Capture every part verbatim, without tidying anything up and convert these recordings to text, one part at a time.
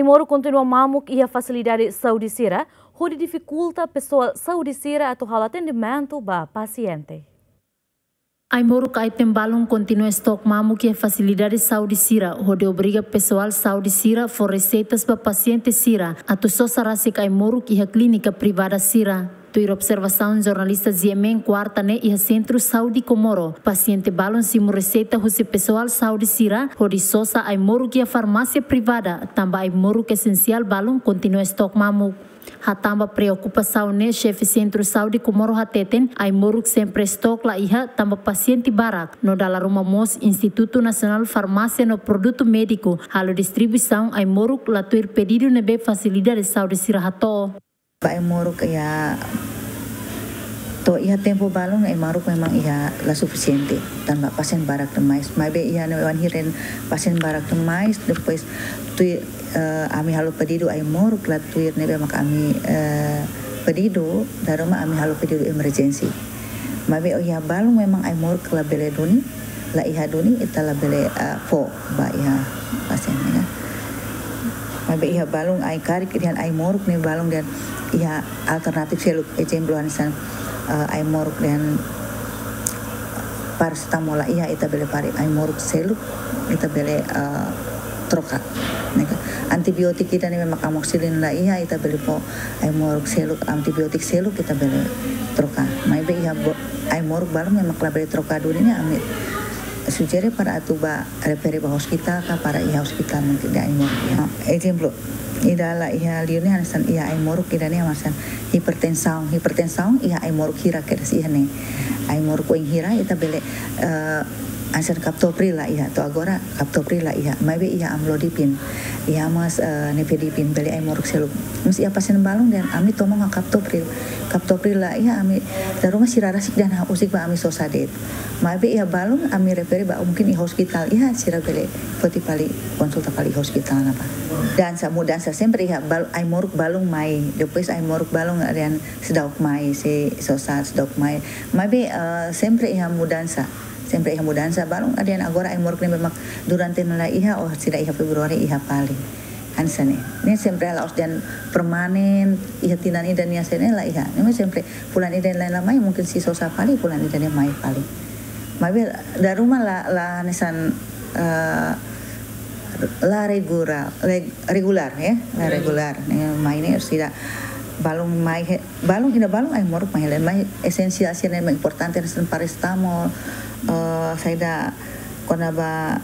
Ai-moruk kontinua mamuk iha fasilidade saúde sira, hodi difikulta pesoál saúde sira atu halo atendimentu ba pasiente. Ai-moruk item balun kontinua stok mamuk iha fasilidade saúde sira, hodi obriga pesoál saúde sira fó reseitas ba pasiente sira atu sosa rasik ai-moruk iha klínika privada sira. Tuir observasaun jornalista G M N, kuarta ne'e iha Sentru Saúde Comoro, pasiente balun simu reseita husi pesoál saúde sira hodi sosa ai-moruk iha farmásia privada, tanba ai-moruk esensiál balun kontinua stok mamuk. Hatán ba preokupasaun ne'e, xefe Sentru Saúde Comoro hateten, ai-moruk sempre stok la iha, tanba pasiente barak, no dala ruma mós Institutu Nasionál Farmásia no Produtu Médiku halo distribuisaun ai-moruk la tuir pedidu ne'ebé fasilidade saúde sira hato'o. Ba ai-moruk iha, to'o iha tempu balun ai-moruk memang iha la sufisiente, tanba pasiente barak demais. Maibé iha ne'e bainhira pasiente barak demais, depois tuir, eh, ami halo pedidu ai-moruk la tuir ne'ebé mak ami, eh, pedidu, dala ruma ami halo pedidu emerjensi. Maibé iha balun memang ai-moruk la bele duni, la iha duni, ita la bele, eh, fó ba iha pasiente, ya. Maibé iha balun ai-karik dehan ai-moruk ne'e balun dehan iha alternatif seluk, ezemplu hanesan, eh, ai-moruk dehan parasetamol la iha, ita bele fó ai-moruk seluk, ita bele, eh, troka. Ne'e ka, antibiotik ida-ne'e mak amoxicilin la iha, ita bele fó ai-moruk seluk, antibiotik seluk ita bele troka. Maibé iha bo-, ai-moruk balun ne'e mak la bele troka duni ne'e, ami sujere para atu ba refere ba ospitál ka para iha ospitál mungkin dehan ai-moruk iha. Ezemplu, ida la iha liu ne'e hanesan iha ai-moruk ida-ne'e hanesan hipertensaun. Hipertensaun iha ai-moruk hira kedas iha ne'e. Ai-moruk oin hira ita bele, eh, hanesan captopril la iha, to'o agora captopril la iha. Maibé iha amlodipina. Iha mós, eh, nifedipine, bele ai-moruk seluk. Mas iha pasiente balun dehan ami toman ho captopril. Captopril la iha, ami dala ruma sira rasik dehan ha'u husik ba ami sosa de'it. Maibé iha balun ami refere ba mungkin iha ospitál iha, sira bele foti fali, konsulta fali iha ospitál ne'ebá. Mudansa, mudansa sempre iha bal-, ai-moruk balun mai, depois ai-moruk balun dehan seidauk mai, sei sosa seidauk mai. Maibé, eh, sempre iha mudansa, sempre iha mudansa balun dehan agora ai-moruk ne'ebé mak durante ne'e la iha, oh, seidauk iha Februari iha fali. Hanesan ne'e. Ne'e sempre la'ós dehan permanen, iha tinan ida nian sei ne'e la iha. Ne'e sempre fulan ida-ne'e la mai, mungkin sei sosa fali, fulan ida-ne'e mai fali. Maibé dala ruma la, la hanesan, eh, la regular, reg-, regular, ya, la regular. Ne'e mai ne'e sira balun mai he-, balun ida balun ai-moruk mai hela, mai esensiál sira-ne'e mak importante hanesan parasetamol, eh, saida kona-ba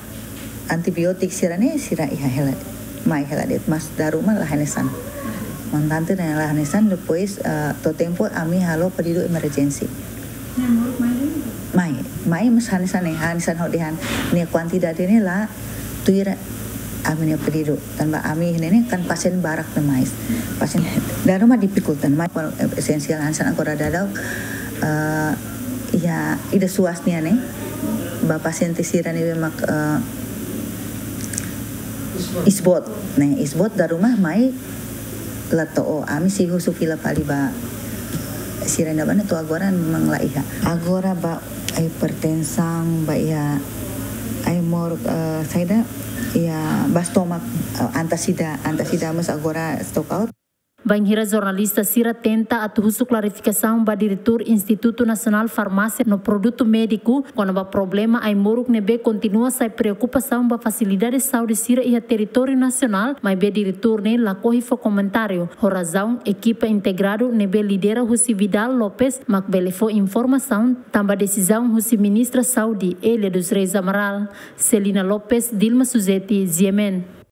antibiotik sira-ne'e sira iha hela, mai hela de'it, mas dala ruma la hanesan. Montante ne'e la hanesan, depois, eh, to'o tempu ami halo pedidu emerjensi. Mai, mai mas hanesan ne'e, hanesan hodi han, ne'e kuantidade ne'e la tuir ami-nia pedidu. Tanba ami ne'e kan pasiente barak demais. Pasiente dala ruma difikulta, mai esensiál hanesan agora daudaun, eh, iha ida SUAS nian ne'e, ba pasiente sira ne'ebé mak, eh, isboot, ne'e, isboot dala ruma mai la to'o, ami sei husu fila fali ba sira ne'ebá ne'e to'o agora memang la iha. Agora ba hipertensaun, ba iha ai-moruk, eh, saida, iha ba stomach, eh, antazida, antazida mas agora stock out. Bainhira jornalista sira tenta atu husu klarifikasaun ba Diretór Institutu Nasionál Farmásia no Produtu Médiku kona-ba problema ai-moruk ne'ebé kontinua sai preokupasaun ba fasilidade saúde sira iha territóriu nasionál, maibé diretór ne'e lakohi fó komentáriu, ho razaun ekipa integradu ne'ebé lidera husi Vidal Lopes mak bele fó informasaun, tanba desizaun husi Ministra Saúde, Elia dos Reis Amaral. Celina Lopes, Dilma Suzeti, G M N.